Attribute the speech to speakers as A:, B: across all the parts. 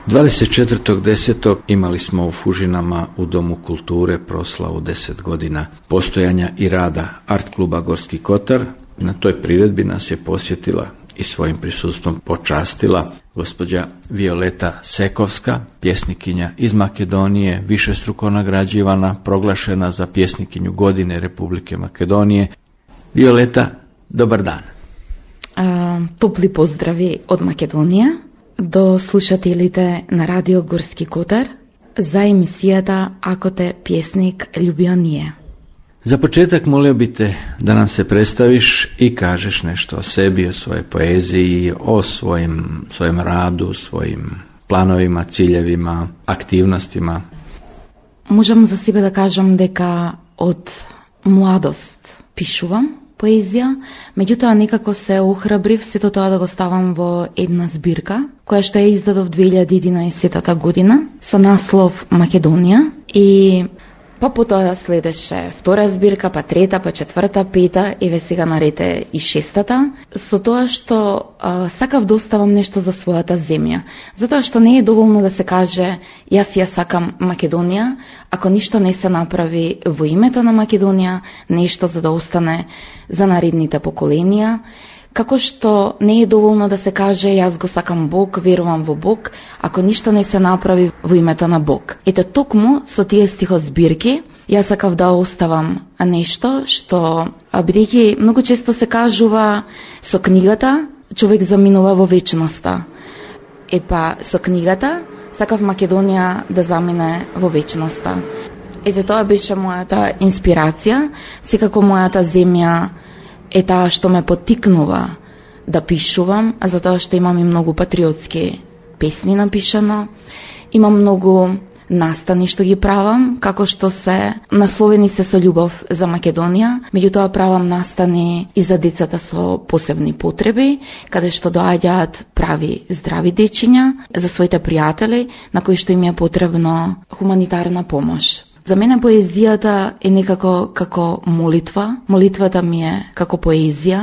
A: 24.10. imali smo u Fužinama u Domu kulture proslavu 10 godina postojanja i rada Art kluba Gorski Kotar. Na toj priredbi nas je posjetila i svojim prisustvom počastila gospođa Violeta Sekovska, pjesnikinja iz Makedonije, višestruko nagrađivana, proglašena za pjesnikinju godine Republike Makedonije. Violeta, dobar dan.
B: Топли поздрави од Македонија до слушателите на Радио Горски Котар за емисијата Ако те пjesnik ljubio nije.
A: Za početak molio bi te da nam se predstaviš i kažeš nešto o sebi, o svojoj poeziji, o svojem radu, svojim planovima, ciljevima, aktivnostima.
B: Можам за себе да кажам дека од младост пишувам поезија, меѓутоа некако се охрабрив сето тоа да го ставам во една збирка, која што ја издадов 2011 година со наслов Македонија и па потоа следеше втора збирка, па трета, па четврта, пета, еве сега нарете и шестата, со тоа што сакав да оставам нешто за својата земја. Затоа што не е доволно да се каже јас ја сакам Македонија, ако ништо не се направи во името на Македонија, нешто за да остане за наредните поколенија, како што не е доволно да се каже јас го сакам Бог, верувам во Бог, ако ништо не се направи во името на Бог. Ето токму со тие стихозбирки јас сакав да оставам нешто што, бидејќи многу често се кажува со книгата човек заминува во вечноста. Епа со книгата сакав Македонија да замине во вечноста. Ете тоа беше мојата инспирација, секако мојата земја е таа што ме поттикнува да пишувам, а затоа што имам и многу патриотски песни напишано, имам многу настани што ги правам, како што се насловени се со љубов за Македонија, меѓутоа правам настани и за децата со посебни потреби, каде што доаѓаат прави здрави дечиња, за своите пријатели, на кои што им е потребно хуманитарна помош. За мене поезијата е некако како молитва. Молитвата ми е како поезија.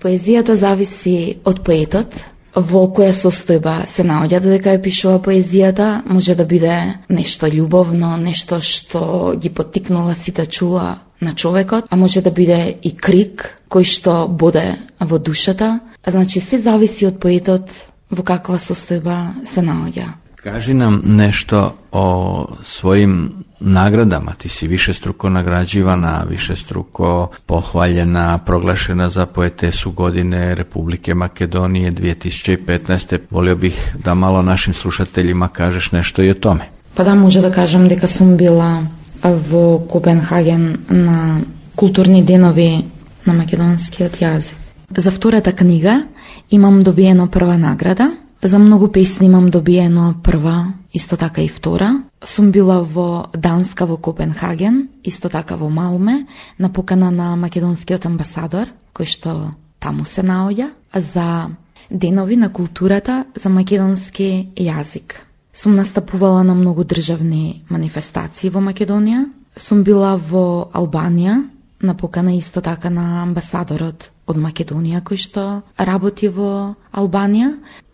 B: Поезијата зависи од поетот, во која состојба се наоѓа додека ја пишува поезијата. Може да биде нешто љубовно, нешто што ги поттикнува сите чула на човекот, а може да биде и крик кој што боде во душата. Значи, се зависи од поетот во каква состојба се наоѓа.
A: Kaži nam nešto o svojim nagradama. Ti si višestruko nagrađivana, višestruko pohvaljena, proglašena za poetesu godine Republike Makedonije 2015. Volio bih da malo našim slušateljima kažeš nešto i o tome.
B: Pa da, може да кажам дека сум била во Копенхаген на културни денови на македонскиот јазик. За втората книга имам добиено прва награда. За многу песни имам добиено прва, исто така и втора. Сум била во Данска во Копенхаген, исто така во Малме, на покана на македонскиот амбасадор, кој што таму се наоѓа, за денови на културата за македонски јазик. Сум настапувала на многу државни манифестации во Македонија. Сум била во Албанија, на покана исто така на амбасадорот од Македонија кој што работи во Албанија.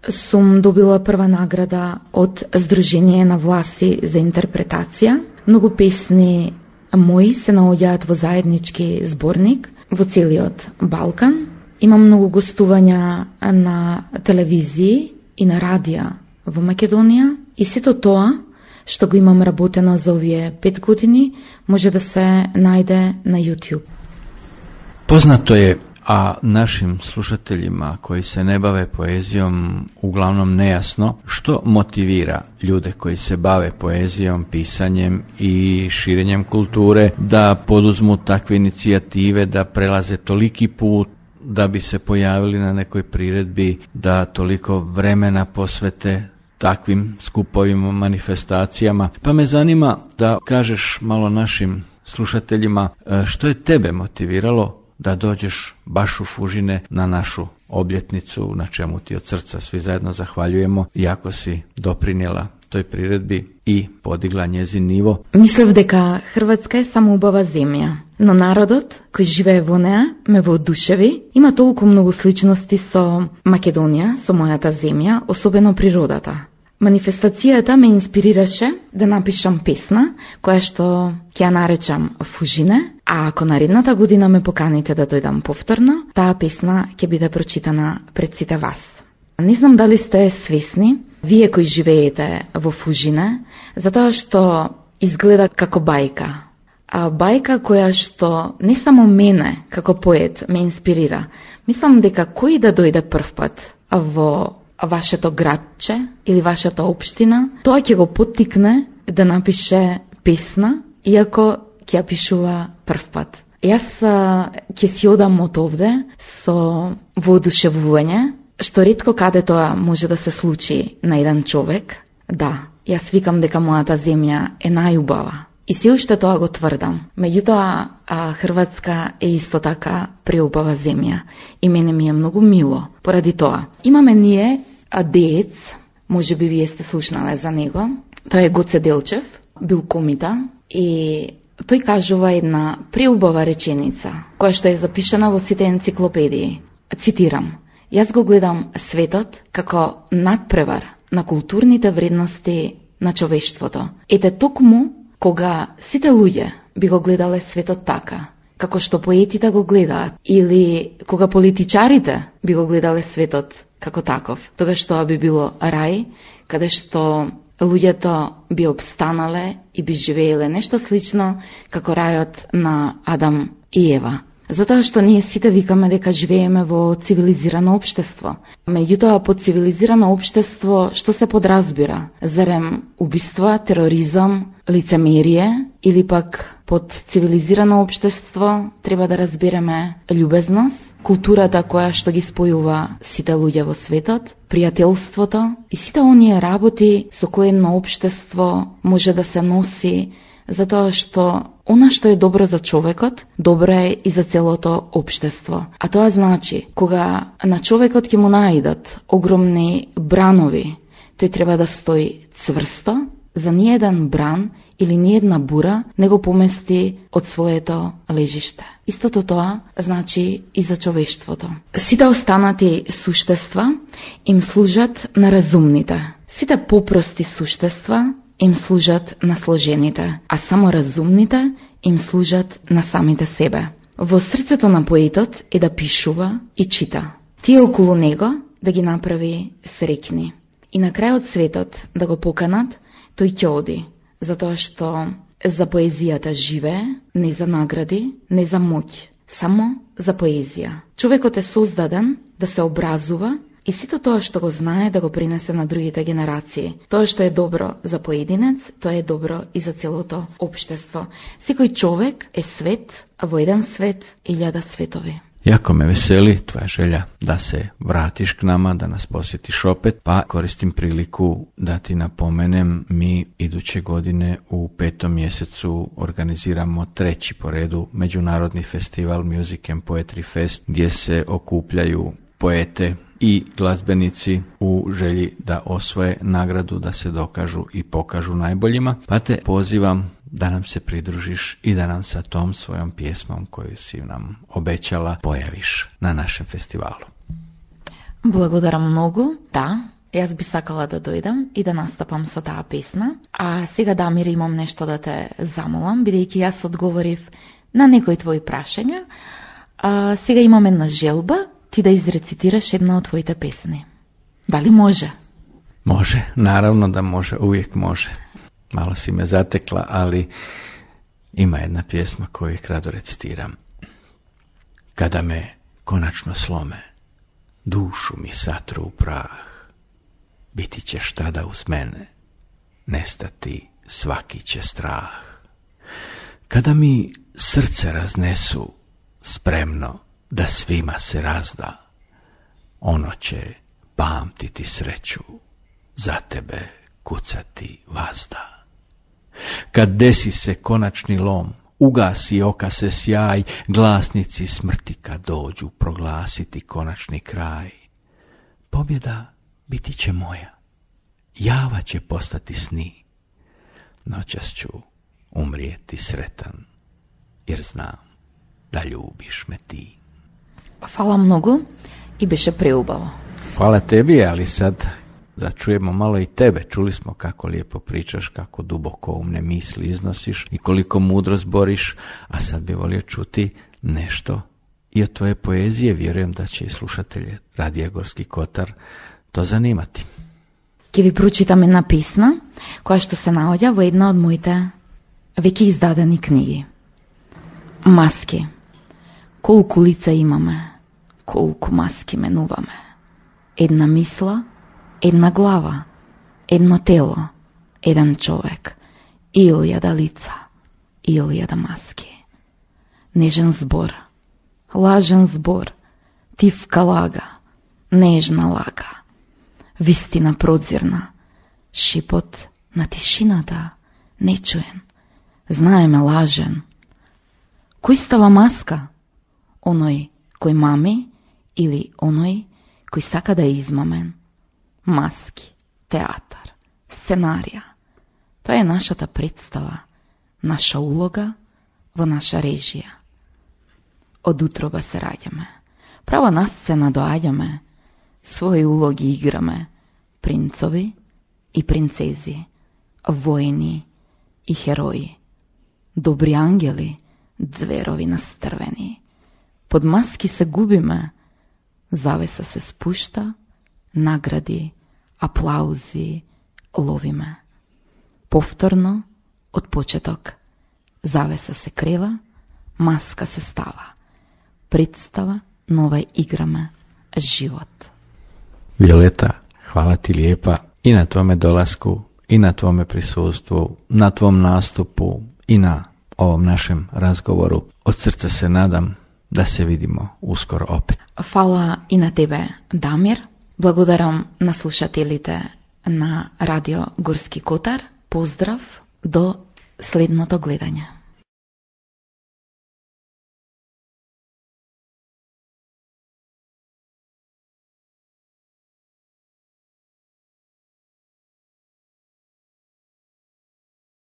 B: Сум добила прва награда од Сдружение на власи за интерпретација. Многу песни мои се наоѓаат во заеднички зборник во целиот Балкан. Имам многу гостувања на телевизии и на радија во Македонија и сето тоа што го имам работено за овие 5 години може да се најде на YouTube.
A: Poznato je, a našim slušateljima koji se ne bave poezijom uglavnom nejasno, što motivira ljude koji se bave poezijom, pisanjem i širenjem kulture da poduzmu takve inicijative, da prelaze toliki put da bi se pojavili na nekoj priredbi, da toliko vremena posvete takvim skupovima, manifestacijama. Pa me zanima da kažeš malo našim slušateljima što je tebe motiviralo da dođeš baš u Fužine na našu obljetnicu, na čemu ti od srca svi zajedno zahvaljujemo, iako si doprinjela toj priredbi i podigla njezin nivo.
B: Мислев дека Хрватска е само убава земја, но народот кој живее во неа ме воодушеви. Има толку многу сличности со Македонија, со мојата земја, особено природата. Манифестацијата ме инспирираше да напишам песна, која што ќе ја наречам Фужине, а ако наредната година ме поканите да дојдам повторно, таа песна ќе биде прочитана пред сите вас. Не знам дали сте свесни, вие кои живеете во Фужине, затоа што изгледа како бајка. А бајка која што не само мене, како поет, ме инспирира. Мислам дека кој да дојде прв пат во вашето градче или вашата општина, тоа ќе го поттикне да напише песна, иако ќе ја пишува прв пат. Јас ќе си одам од овде со воодушевување, што ретко каде тоа може да се случи на еден човек. Да, јас викам дека мојата земја е најубава. И се уште тоа го тврдам. Меѓутоа, Хрватска е исто така преубава земја. И мене ми е многу мило. Поради тоа, имаме ние деец, може би вие сте слушнале за него. Тој е Гоце Делчев, бил комита. И тој кажува една преубава реченица, која што е запишана во сите енциклопедии. Цитирам: "Јас го гледам светот како надпревар на културните вредности на човештвото. Ете токму кога сите луѓе би го гледале светот така, како што поетите го гледаат, или кога политичарите би го гледале светот како таков, тогаш тоа би било рај, каде што луѓето би обстанале и би живееле нешто слично како рајот на Адам и Ева. Затоа што ние сите викаме дека живееме во цивилизирано општество. Меѓутоа, под цивилизирано општество што се подразбира? Зарем убиства, тероризам, лицемерие, или пак под цивилизирано општество треба да разбереме љубезност, културата која што ги спојува сите луѓе во светот, пријателството и сите оние работи со кои едно општество може да се носи, затоа што она што е добро за човекот, добро е и за целото општество. А тоа значи, кога на човекот ќе му наидат огромни бранови, тој треба да стои цврсто, за ниеден бран или ниедна бура не го помести од своето лежиште. Истото тоа значи и за човештвото. Сите останати суштества им служат на разумните. Сите попрости суштества им служат на сложените, а само разумните им служат на самите себе. Во срцето на поетот е да пишува и чита. Тие околу него да ги направи среќни. И на крајот светот да го поканат, тој ќе оди, затоа што за поезијата живее, не за награди, не за моќ, само за поезија. Човекот е создаден да се образува и сето тоа што го знае да го принесе на другите генерации. Тоа што е добро за поединец, тоа е добро и за целото општество. Секој човек е свет, а во еден свет 1000 светови.
A: Jako me veseli tvoja želja da se vratiš k nama, da nas posjetiš opet, pa koristim priliku da ti napomenem, mi iduće godine u 5. mjesecu organiziramo 3. po redu Međunarodni festival Music and Poetry Fest, gdje se okupljaju poete i glazbenici u želji da osvoje nagradu, da se dokažu i pokažu najboljima, pa te pozivam da nam se pridružiš i da nam sa tom svojom pjesmom koju si nam obećala pojaviš na našem festivalu.
B: Благодарам многу. Да, јас би сакала да дојдам и да настапам со таа песна. А сега, Дамир, имам нешто да те замолам, бидејќи јас одговорив на некои твои прашања. Сега имам една желба, ти да изрецитираш една од твоите песни. Дали може?
A: Može, naravno da može, uvijek može. Malo si me zatekla, ali ima jedna pjesma koju uvijek rado recitiram. Kada me konačno slome, dušu mi satru u prah, biti ćeš tada uz mene, nestati svaki će strah. Kada mi srce raznesu, spremno da svima se razda, ono će pamtiti sreću, za tebe kucati vazda. Kad desi se konačni lom, ugasi oka se sjaj, glasnici smrti kad dođu proglasiti konačni kraj. Pobjeda biti će moja, java će postati sni, noćas ću umrijeti sretan, jer znam da ljubiš me ti.
B: Hvala mnogo i беше преубаво.
A: Hvala tebi, ali sad da čujemo malo i tebe. Čuli smo kako lijepo pričaš, kako duboko umne misli iznosiš i koliko mudro zboriš, a sad bi volio čuti nešto i od tvoje poezije. Vjerujem da će i slušatelje Radija Gorski Kotar to zanimati.
B: Ќе ви прочитам една песна, која што се наоѓа во една од моите веќе издадени книги. Маски. Колку лица имаме, колку маски менуваме. Една мисла, една глава, едно тело, еден човек, илјада лица, илјада маски. Нежен збор, лажен збор, тивка лага, нежна лага, вистина продзирна, шипот на тишината, нечуен, знаеме лажен. Кој става маска? Оној кој мами или оној кој сака да е измамен? Маски, театар, сценарија. Тоа е нашата представа, наша улога во наша режија. Од утроба се раѓаме, право на сцена доаѓаме, своји улоги играме, принцови и принцези, војни и херои, добри ангели, зверови настрвени. Под маски се губиме, завеса се спушта, награди, аплаузи ловиме. Повторно, од почеток, завеса се крева, маска се става. Представа нова играме, живот.
A: Violeta, hvala ti lijepa i na tvome dolasku, i na tvome prisustvu, na tvom nastupu i na ovom našem razgovoru. Od srca se nadam da se vidimo uskoro opet.
B: Фала и на тебе, Дамир. Благодарам на слушателите на Радио Горски Котар. Поздрав до следното гледање.